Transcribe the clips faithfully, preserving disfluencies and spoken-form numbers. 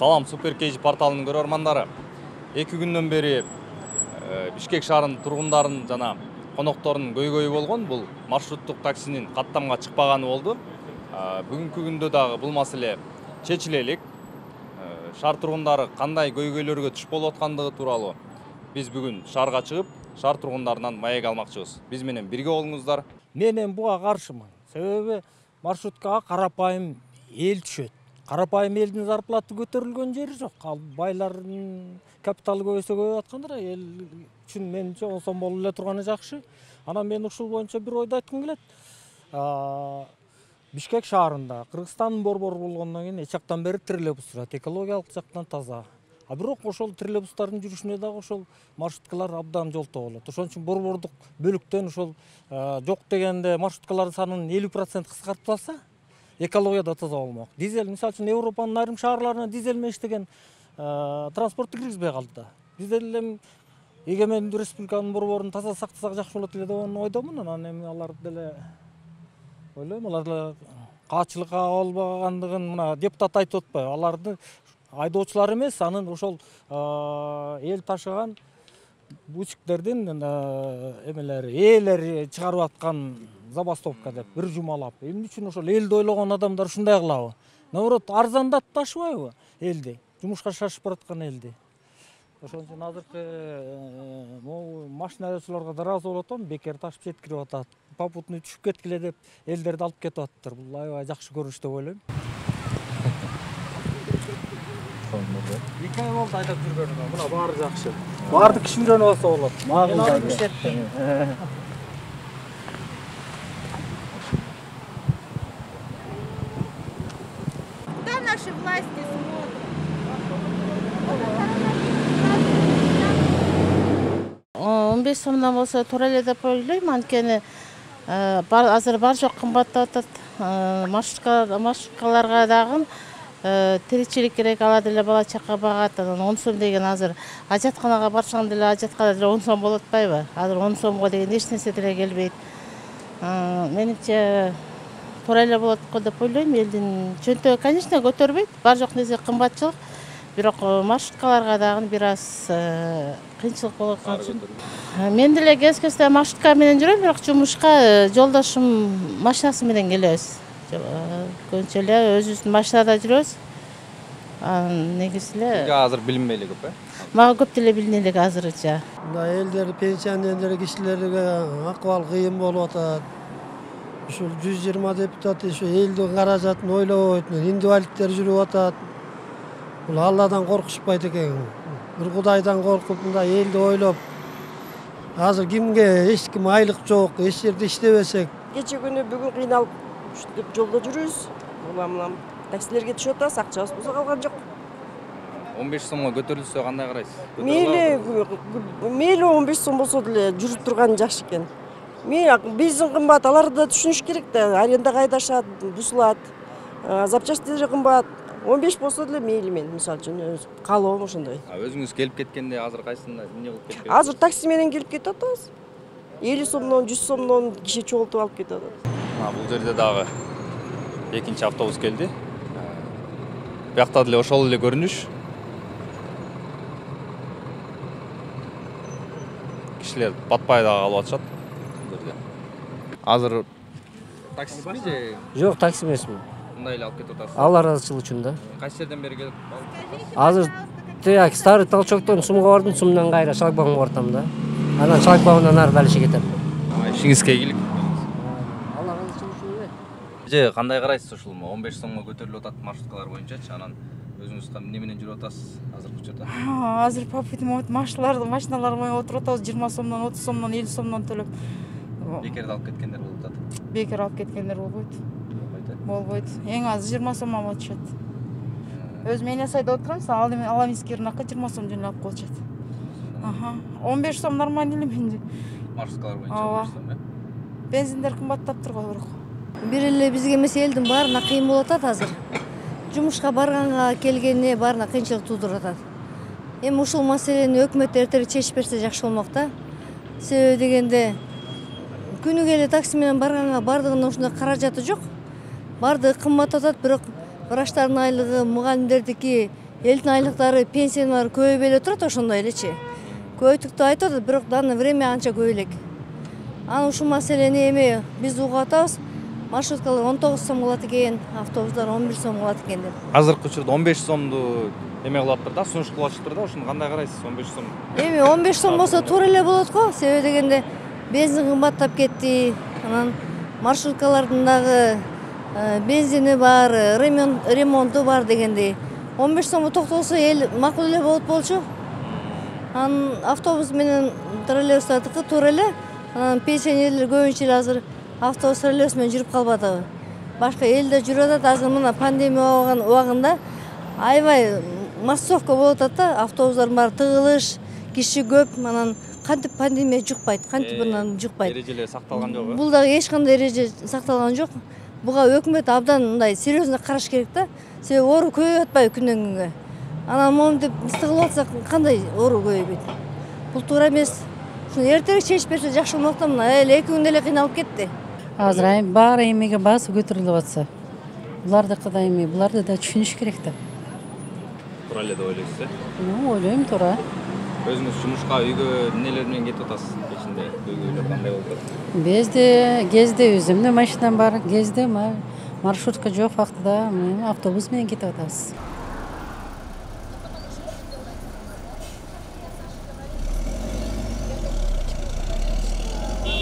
Салам Супер Кейж порталынын көрөрмандары. эки күндөн бери Бишкек шаарынын тургундарын жана конокторунун көйгөйү болгон бул маршруттук таксинин каттамга чыкпаганы болду. Бүгүнкү күндө дагы бул маселе чечиле элек. Шаар тургундары кандай көйгөйлөргө туш болуп аткандыгы тууралуу биз бүгүн шаарга чыгып, шаар тургундарынан маек алмакчыбыз. Биз менен бирге болуңуздар. Мен буга каршымын. Себеби маршруткага карапайым эл түшөт. Карапайым элдин зарплаты көтөрүлгөн жери жок. Ал байлардын капиталы көбөйсө көбөйүп аткандыр. Эл үчүн менимче он сом болуп эле турганы жакшы. Анан мен ушул боюнча бир ойду айткым келет. Бишкек шаарында Кыргызстандын борбору болгондон кийин эч жактан бери троллейбус жүрөт. Экологиялык жактан таза. А бирок ошол троллейбустардын жүрүшүнө дагы ошол маршруткалар абдан жолтоо болот. Ошон үчүн борбордук бөлүктөн ошол жок дегенде маршруткалардын санын элүү процент кыскартып алса, экология да таза болмок. Дизель, мисалы үчүн Европанын айрым шаарларына дизель менен иштеген транспортты киргизбей калды да. Биз деле эгемендүү республиканын борборун таза сактасак жакшы болот эле деген ойдомун. Анан эми алар деле ойлойм, алар деле каачылыкка болбогандыгын мына депутат айтып атпайбы? Аларды айдоочулар эмес, анын ошол эл ташыган бутиктердин эмелери, ээлери чыгарып аткан забастовка деп бир жумалап. Эмне үчүн ошол элди ойлогон адамдар ушундай кылабы? Наоборот, арзандатпашыбайбы элди? Жумушка шашып бараткан элди. Ошон үчүн азыркы могу машина айдоочуларга да ыраазы болуп атам, бекер ташып жеткирип атат. Попутный түшүп кеткиле деп элдерди алып кетип атыптыр. Бул аябай жакшы көрүнүш деп ойлойм. эки ай болду айдап жүргөнүмө. Мына баары жакшы. Баарды киши үйрөнүп алса болот. Макул. Куда наши власти смотрят? он беш сомдон болсо туура эле деп ойлойм. Анткени азыр бар жок кымбаттап атат. Маршруткаларга дагы тиричилик керек, ала деле бала чака багат. Анан он сом деген азыр ажатканага барсаң деле ажаткада деле он сом болуп атпайбы? Азыр он сомго деген эч нерсе деле келбейт. Менимче туура эле болот го деп ойлойм. Элдин чөнтөгү, конечно, көтөрбөйт. Бар жок нерсе кымбатчылык. Бирок маршруткаларга дагы бир аз кыйынчылык болуп аткан үчүн. Мен деле кез-кезде маршрутка менен жүрөм, бирок жумушка жолдошум машинасы менен келебиз. Көбүнчө эле өзүбүздүн машинада жүрөбүз. Негизи эле Азыр билинбей эле көп, э? Мага көп деле билине элек азырынча. Мына элдер, пенсионерлер кишилерге акыбал кыйын болуп атат. Ушул жүз жыйырма депутат ушу элдин каражатын ойлобойт. Инвалидтер жүрүп атат. Бул Алладан коркушпайт экен. Бир Кудайдан коркуп, мындай элди ойлоп. Азыр кимге эч ким айлык жок, эч жерде иштебесек. Кече күнү бүгүн кыйналып ушинтип жолдо жүрүбүз. Улам-улам таксилерге түшүп атабыз, акчабыз болсо калган жок. он беш сомго көтөрүлсө кандай карайсыз? Мейли, мейли он беш сом болсо деле жүрүп турган жакшы экен. Мейли биздин кымбат, аларды да түшүнүш керек да. Арендага айдашат, бузулат. Запчастьтери кымбат. он беш болсо деле мейли мен, мисалы үчүн каалоом ошондой. Өзүңүз келип кеткенде азыр кайсында эмне кылып кетип? Азыр такси менен келип кетип атабыз. элүү сомдон, жүз сомдон киши чогултуп алып кетип атат. Бул жерде дагы экинчи автобус келди. Биякта деле ошол эле көрүнүш. Кишилер батпай дагы калып атышат. Азыр таксисизби же? Жок, такси эмесмин. Мындай эле алып кетип атасыз. Ал арачылык үчүн да. Кайсы жерден бери келип? Азыр тияк старый толчоктон сумга бардым, сумдан кайра шлагбаумга бартам да. Анан шлагбаумдан ары дальше кетем. Ишиңизге ийгилик. Алла разычылык үчүн эле. Же кандай карайсыз ушул он беш сомго көтөрүлүп атат маршруткалар боюнчачы? Анан өзүңүз эмне менен жүрүп атасыз азыркы учурда? Азыр попутный машиналар, машиналар менен отуруп атабыз, жыйырма сомдон, отуз сомдон, элүү сомдон төлөп. Бекерде алып кеткендер болуп атат. Бекер алып кеткендер болбойт. Болбойт. Эң аз жыйырма сом алып атышат. Өзүм эне сайда отурам, Аламинский рынокко жыйырма сом жөнүп алып коюшат. Аха. он беш сом нормально эле менде. Маршруткалар боюнча он беш сом, э? Бензиндер кымбаттап турган бирок. Бир эле бизге эмес, элдин баарына кыйын болуп атат азыр. Жумушка барганга келгенине баарына кыйынчылык туудуруп атат. Эми ушул маселени өкмөт эртерээк чечип берсе жакшы болмок да. Себеби дегенде күнүгө эле такси менен барганга бардыгынын ушундай каражаты жок. Бардыгы кымбат атат, бирок врачтардын айлыгы, мугалимдердики элдин айлыктары, пенсиялары көбөйбөй эле турат, ошондой элечи. Көбөйтүктү айтып атат, бирок данный время анча көп элек. Анан ушул маселени эми биз угуп атабыз. Маршруткалар он тогуз сом кылат экен, автобустар он бир сом кылат экен деп. Азыркы учурда он беш сомду эме кылаптыр да, сунуш кылып да, ошону кандай карайсыз? он беш сом. Эми он беш сом болсо туура эле болот го, себеби дегенде бензин кымбаттап кетти. Анан маршруткалардын дагы бензини бар, ремонту бар дегендей. он беш сомго токтолсо эл макул эле болот болчу. Анан автобус менен троллейбустардыкы туура эле. Анан пенсионерлер көбүнчө эле азыр автобус троллейбус менен жүрүп калбадыбы. Башка элде жүрүп атат, азыр мына пандемия убагында аябай массовка болуп атат да, автобустардын баары тыгылыш, киши көп, анан кантип пандемия жукпайт, кантип анан жукпайт. Эрежелер сакталган жок. Бул дагы эч кандай эреже сакталган жок. Буга өкмөт абдан мындай серьезно караш керек да. Себеби оору көбөйүп атпайбы күндөн күнгө. Анан моментип ыстыгылып атсак кандай оору көбөйбөйт. Бул туура эмес. Ушуну эртерээк чечип берсе жакшы болмок да, мына эле эки күндө эле кыйналып кетти. Азыр айым баары эмеге баасы көтөрүлүп атса, булардыкы да эми, буларды да түшүнүш керек да. Туура эле деп ойлойсуз, э? Ну, ойлойм туура. Өзүңүз жумушка, үйгө эмнелер менен кетип атасыз? Кечинде көйгөйлөр кандай болуп атат? Бизде кезде өзүмдүн машинам бар, кезде маршрутка жок вактыда автобус менен кетип атабыз.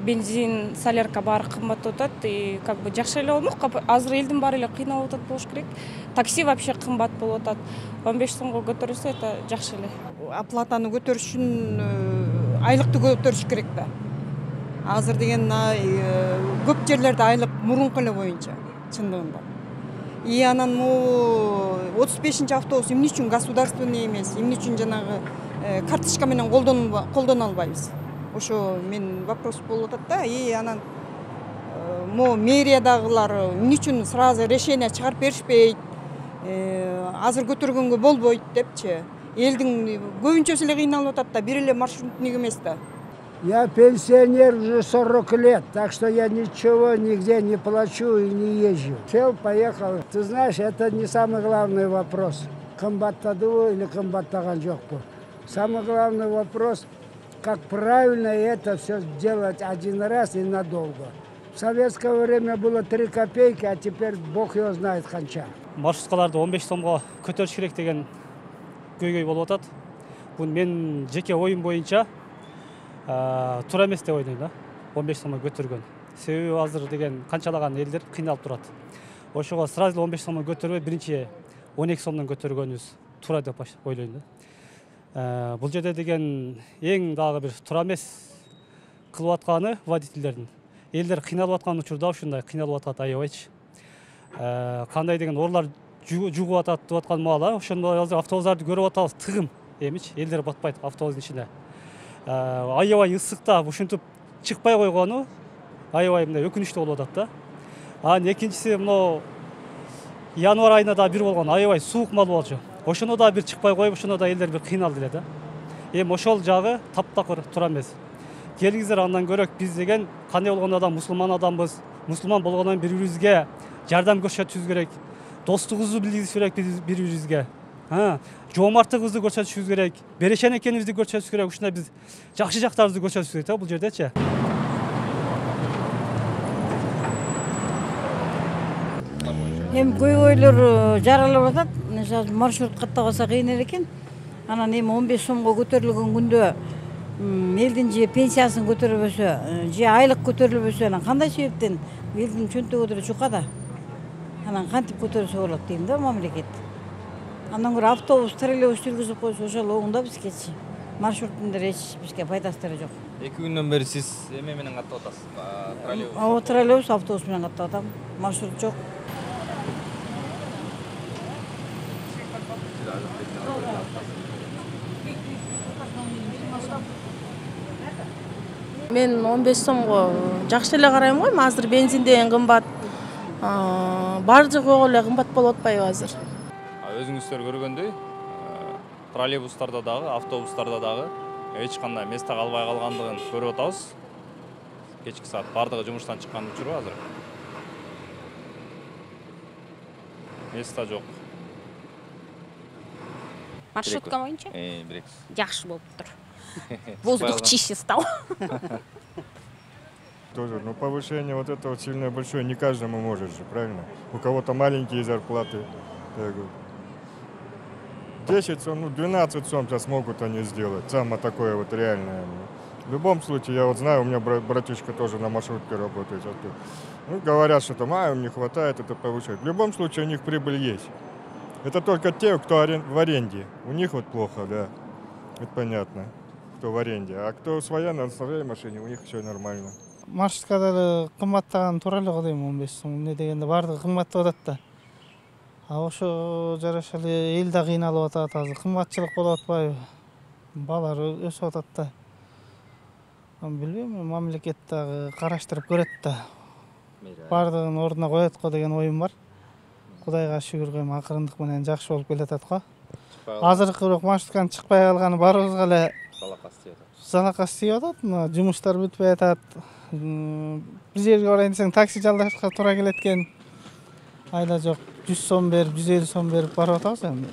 Бензин, солярка баары кымбаттап атат, и как бы жакшы эле болмок. Азыр элдин баары эле кыйналып атат болуш керек. Такси вообще кымбат болуп атат. он беш сомго көтөрүлсө, это жакшы эле. Оплатаны көтөрүш үчүн айлыкты көтөрүш керек да. Азыр деген көп жерлерде айлык мурунку эле боюнча, чындыгында. И анан могу отуз бешинчи автобус эмне үчүн государственный эмес, эмне үчүн жанагы карточка менен колдоно албайбыз? Ошо мен вопрос болуп атат да. И анан мо мэриядагылар эмне үчүн сразу решение чыгарып беришпейт? Азыр көтөргөнгө болбойт депчи. Элдин көбүнчөсү эле кыйналып атат да, бир эле маршрутник эмес да. Я пенсионер уже сорок лет, так что я ничего нигде не плачу и не езжу. Сел, поехал. Ты знаешь, это не самый главный вопрос. Кымбаттадыбы или кымбаттаган жокпу. Самый главный вопрос, как правильно это все делать один раз и надолго. В советское время было три копейки, а теперь бог его знает канча. Маршруткаларды он беш сомго көтөрүш керек деген көйгөй болуп атат. Бул мен жеке оюм боюнча туура эмес деп ойлойм да. он беш сомго көтөргөн. Себеби азыр деген канчалаган элдер кыйналып турат. Ошого сразу эле он беш сомго көтөрбөй, биринчи он эки сомдон көтөргөнүбүз туура деп ойлойм да. Бул жерде деген эң дагы бир туура эмес кылып атканы водительдердин. Элдер кыйналып аткан учурда ушундай кыйналып атат аябайчы. Кандай деген орлар жугуп атат деп аткан маал, ошондой азыр автобустарды көрүп атабыз, тыгым эмичи, элдер батпайт автобустун ичине. Аябай ысыкта ушинтип чыкпай койгону аябай мындай өкүнүчтүү болуп атат да. Анан экинчиси мына январь айында да бир болгон, аябай суук мал болчу. Ошоно да бир чыкпай коюп, ошоно да элдер бир кыйналды эле да. Эми ошол жагы таптакыр туура эмес. Келиңиздер андан көрөк, биз деген кандай болгондо да мусулман адамбыз. Мусулман болгондон бири-бирибизге жардам көрсөтүшүбүз керек. Достугубузду билдиришибиз керек бири-бирибизге. Жоомарттыгыбызды көрсөтүшүбүз керек. Берешен экенибизди көрсөтүшүбүз керек. Ушундай биз жакшы жактарыбызды көрсөтүшүбүз керек да бул жердечи. Эми көйгөйлөр жаралып атат. Мисалы маршрут каттабаса кыйын экен. Анан эми он беш сомго көтөрүлгөн күндө элдин же пенсиясын көтөрбөсө, же айлык көтөрүлбөсө, анан кандай себептен элдин чөнтөгү деле жукада. Анан кантип көтөрсө болот дейм да мамлекет. Андан көрө автобус, троллейбус жүргүзүп койсо ошол оңдо бизгечи. Маршруттун эч бизге пайдасы деле жок. эки күндөн бери сиз эме менен каттап атасыз? Троллейбус. Ооба, троллейбус, автобус менен каттап атам. Маршрут жок. Мен он беш сомго жакшы эле карайм го, азыр бензин деген кымбат. Баары жагы эле кымбат болуп атпайбы азыр? Өзүңүздөр көргөндөй, троллейбустарда дагы, автобустарда дагы эч кандай места калбай калгандыгын көрүп атабыз. Кечки саат бардыгы жумуштан чыккан учуру азыр. Места жок. Маршрутка боюнча Бирекс. жакшы болуптур. Воздух чище стал. Тоже, ну повышение вот это вот сильно большое, не каждому может же, правильно? У кого-то маленькие зарплаты. десять сом, ну двенадцать сом сейчас могут они сделать, самое такое вот реальное. В любом случае, я вот знаю, у меня братишка тоже на маршрутке работает. Ну, говорят, что там, а, им не хватает, это повышать. В любом случае, у них прибыль есть. Это только те, кто в аренде. У них вот плохо, да. Это понятно, кто в аренде. А кто своя, на своей машине, у них все нормально. Маршруткада эле кымбаттаган туура эле го дейм, он беш сом. Эмне дегенде баардыгы кымбаттап атат да. А ошо жараша эле эл да кыйналып атат азыр. Кымбатчылык болуп атпайбы? Баалар өсүп атат да. Билбейм, мамлекет дагы караштырып көрөт да. Баардыгын ордуна коет го деген оюм бар. Кудайга шүгүр коем, акырындык менен жакшы болуп келатат го. Азыркы бирок маршрутканын чыкпай калганы баарыбызга эле залакас тийип атат. Залакас тийип атат. Жумуштар бүтпөй атат. Бир жерге барайын десең такси жалдашка туура келет экен. Айда жок жүз сом берип, жүз элүү сом берип барып атабыз эми.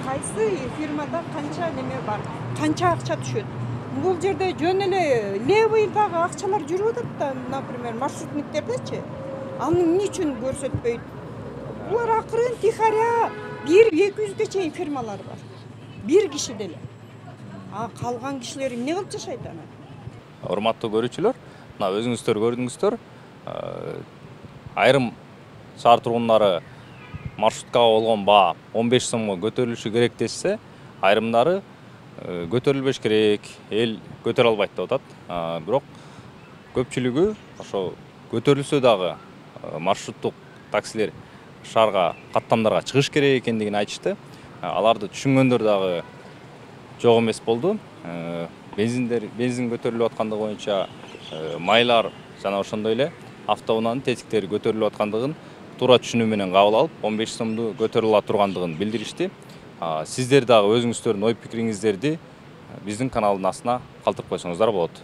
Кайсы фирмада канча неме бар? Канча акча түшөт? Бул жерде жөн эле левыйдагы акчалар жүрүп атат да, например, маршрутниктердечи. Аны эмне үчүн көрсөтпөйт? Булар акырын тихаря бир эки жүзгө чейин фирмалар бар. Бир киши деле. А калган кишилер эмне кылып жашайт аны? Урматтуу көрүүчүлөр, мына өзүңүздөр көрдүңүздөр, айрым шаар тургундары маршруткага болгон баа он беш сомго көтөрүлүшү керек десе, айрымдары көтөрүлбеш керек, эл көтөрө албайт деп атат. Бирок көпчүлүгү ошо көтөрүлсө дагы маршруттук таксилер шаарга каттамдарга чыгыш керек экендигин айтышты. Аларды түшүнгөндөр дагы жок эмес болду. Бензиндер, бензин көтөрүлүп аткандыгы боюнча майлар жана ошондой эле автоунаанын тетиктери көтөрүлүп аткандыгын туура түшүнүү менен кабыл алып, он беш сомду көтөрүлө тургандыгын билдиришти. Сиздер дагы өзүңүздөрдүн ой пикириңиздерди биздин каналдын астына калтырып койсоңуздар болот.